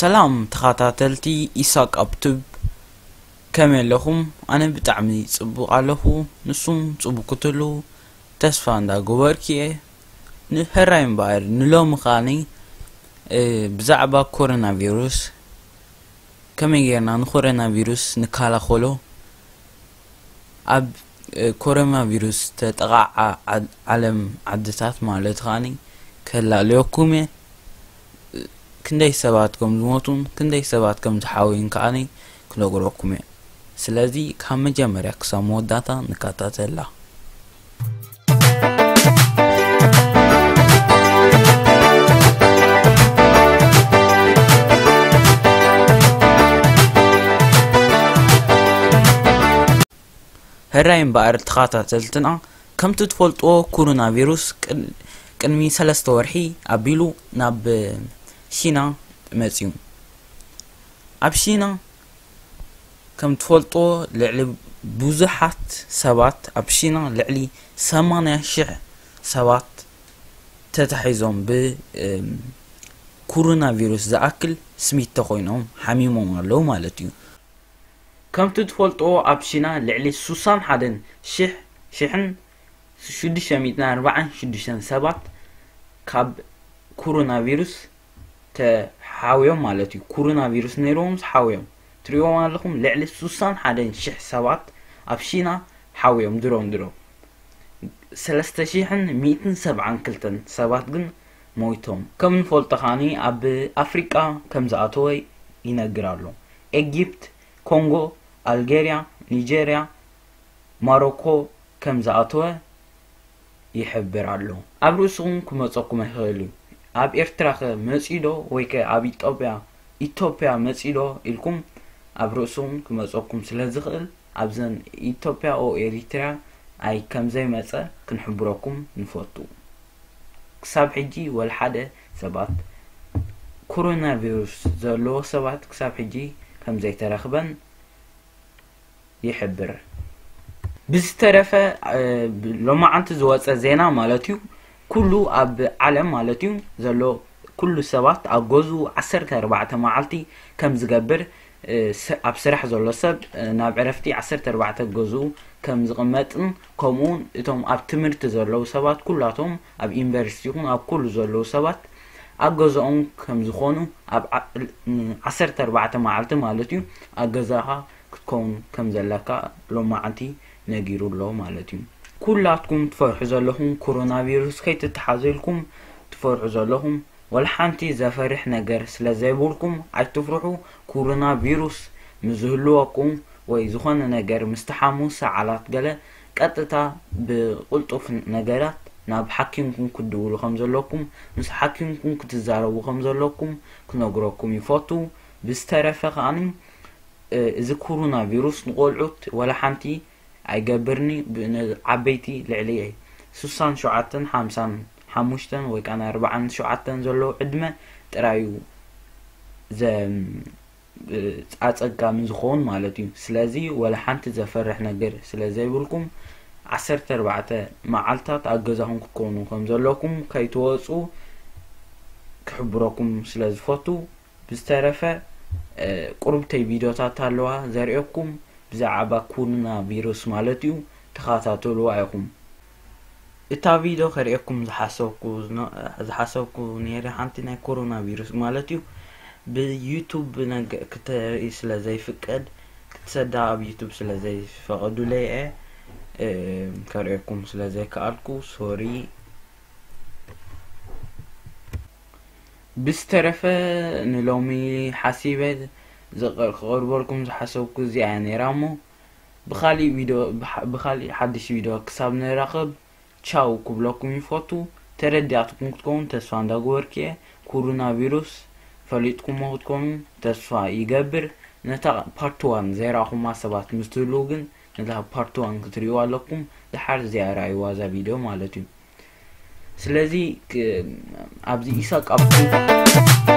ሰላም ተኸታተልቲ ኢሳቅ ኣብ ቱብ፣ ከመይ ኣለኹም? ኣነ ብጣዕሚ ጽቡቕ ኣለኹ፣ ንሱም ጽቡቕ ክትህሉ ተስፋ እንዳገበርኩ'የ። ንሕራይ እምበኣር ንሎሚ ከኣኒ፣ እ፣ ብዛዕባ ኮሮና ቪሩስ፣ ከመይ ጌርና ንኮሮና ቪሩስ ንከላኸሎ፣ ኣብ፣ እ፣ ኮሮና ቪሩስ ተጠቓዓ ዓድ-፣ ዓለም ዓድታት ማለት ከኣኒ ከላልየኩም እየ። ክንደይ ሰባት ከም ዝሞቱን ክንደይ ሰባት ከም ዝሓወዩን ከኣኒ ክነግረኩም እየ። ስለዚ ካብ መጀመርያ ክሳብ መወዳእታ ንከታተላ። ሕራይ እምበኣር ተኸታተልትና፣ ከምቲ ትፈልጥዎ ኮሮና ቪሩስ ቅድ-፣ ቅድሚ ሰለስተ ወርሒ ኣቢሉ ናብ ሺና መጺኡ። ኣብ ሺና ከም ትፈልጥዎ ልዕሊ ብዙሓት ሰባት፣ ኣብ ሺና ልዕሊ ሰማንያ ሽሕ ሰባት ተታሒዞም ብ፣ እም፣ ኮሮና ቪሩስ ዝኣክል ስሚት ተኾይኖም ሓሚሞም ኣለዉ ማለት እዩ። ከምቲ ትፈልጥዎ ኣብ ሺና ልዕሊ ሱሳን ሓደን ሽሕ፣ ሽሕን ሽዱሽተ ሚእትን ኣርባዓን ሽዱሽተን ሰባት ካብ ኮሮና ቪሩስ ተሓውዮም ማለት እዩ። ኮሮና ቪሩስ ነይርዎም ሓውዮም። ትሪእዎም ኣለኹም፣ ልዕሊ ሱሳን ሓደን ሽሕ ሰባት ኣብ ሺና ሓውዮም ድሮም ድሮም። ሰለስተ ሽሕን ሚእትን ሰብዓን ክልተን ሰባት ግን ሞይቶም። ከም ንፈልጦ ከኣኒ ኣብ ኣፍሪቃ ከም ዝኣተወ ይነግር ኣሎ። ኤጊፕት፣ ኮንጎ፣ ኣልጌርያ፣ ኒጀርያ፣ ማሮኮ ከም ዝኣተወ ይሕብር ኣሎ። ኣብ ርእስኹም ክመጸኩም ይኽእል እዩ። ኣብ ኤርትራ ከ መጺኡ ዶ ወይ ከ ኣብ ኢትዮጵያ፣ ኢትዮጵያ መጺኡ ዶ ኢልኩም ኣብ ርእስኹም ክመጸኩም ስለ ዝኽእል ኣብዘን ኢትዮጵያ ኦ ኤሪትራ ኣይ ከም ዘይመጸ ክንሕብረኩም ንፈቱ። ክሳብ ሕጂ ወላ ሓደ ሰባት ኮሮና ቪሩስ ዘለዎ ሰባት ክሳብ ሕጂ ከም ዘይተረኽበን ይሕብር። ብዝተረፈ፣ እ፣ ብ-፣ ሎማዓንቲ ዝወጸ ዜና ማለት እዩ፣ ኩሉ ኣብ ዓለም ማለት እዩ ዘሎ ኩሉ ሰባት ኣብ ገዝኡ ዓሰርተ ኣርባዕተ መዓልቲ ከም ዝገብር፣ እ፣ ስ-፣ ኣብ ስራሕ ዘሎ ሰብ፣ እ፣ ናብ ዕረፍቲ ዓሰርተ ኣርባዕተ ገዝኡ ከም ዝቕመጥን ከምኡውን እቶም ኣብ ትምህርቲ ዘለዉ ሰባት ኩላቶም ኣብ ዩኒቨርሲቲ ይኹን ኣብ ኩሉ ዘለዉ ሰባት ኣብ ገዛኦም ከም ዝኾኑ ኣብ ዓ-፣ ን-፣ ዓሰርተ ኣርባዕተ መዓልቲ ማለት እዩ ኣብ ገዛኻ ክትከውን ከም ዘለካ ሎማዓንቲ ነጊሩ ኣሎ ማለት እዩ። ኩላትኩም ትፈርሑ ዘለኹም ኮሮና ቪሩስ ከይትተሓዙ ኢልኩም ትፈርሑ ዘለኹም ወላ ሓንቲ ዘፈርሕ ነገር ስለ ዘይብልኩም ኣይትፍርሑ። ኮሮና ቪሩስ ምስ ዝህልወኩም ወይ ዝኾነ ነገር ምስ ተሓሙ ሰዓላት ገለ ቀጥታ ብቕልጡፍ ነገራት ናብ ሓኪምኩም ክትድውሉ ከም ዘለኩም ምስ ሓኪምኩም ክትዛረቡ ከም ዘለኩም ክነግረኩም ይፈቱ። ብዝተረፈ ከኣኒ እ፣ እዚ ኮሮና ቪሩስ ንቆልዑት ወላ ሓንቲ ኣይገብርኒ፣ ብ-፣ ንዓበይቲ ልዕሊ ሱሳን ሸውዓተን ሓምሳን ሓሙሽተን ወይ ከኣ ኣርባዓን ሸውዓተን ዘለዉ ዕድመ ጥራይ እዩ ዘ-፣ እ፣ ኣጸጋሚ ዝኸውን ማለት እዩ። ስለዚ ወላ ሓንቲ ዘፈርሕ ነገር ስለ ዘይብልኩም ዓሰርተ ኣርባዕተ መዓልታት ኣብ ገዛኹም ክትኮኑ ከም ዘለኩም ከይትወጹ ክሕብረኩም ስለ ዝፈቱ ብዝተረፈ፣ እ፣ ቁሩብተይ ቪድዮታት ኣለዋ ዘርእየኩም ብዛዕባ ኮሮና ቪሩስ ማለት እዩ። ተኸታተልዋ ኢኹም። እታ ቪድዮ ከርእየኩም ዝሓሰብኩ ዝነ-፣ ዝሓሰብኩ ነይረ ሓንቲ ናይ ኮሮና ቪሩስ ማለት እዩ። ብዩቱብ ነገ-፣ ክተርኢ ስለ ዘይፍቀድ፣ ክትሰዳ ኣብ ዩቱብ ስለ ዘይፈቐዱለይ እየ፣ እ፣ ከርእየኩም ስለ ዘይከኣልኩ፣ ሶሪ። ብዝተረፈ ንሎሚ ሓሲበ ዘቐ-፣ ክቐርበልኩም ዝሓሰብኩ እዚኣ እያ ነይራ እሞ ብኻሊእ ቪድዮ፣ ብሓ-፣ ብኻሊእ ሓድሽ ቪድዮ ክሳብ ንራኸብ ቻው ክብለኩም ይፈቱ። ተረዲኣትኩም ክትከውን ተስፋ እንዳገበርኩ እየ። ኮሮና ቪሩስ ፈሊጥኩሞ ክትኮኑ ተስፋ ይገብር። ነታ ፓርት ዋን ዘይረኣኹማ ሰባት ምስ ትህልዉ ግን ነታ ፓርት ዋን ክትርእይዋ ኣለኩም። ደሓር እዚኣ ርኣይዋ እዛ ቪድዮ ማለት እዩ። ስለዚ ክ-፣ ኣብዚ ኢሳቅ ኣብ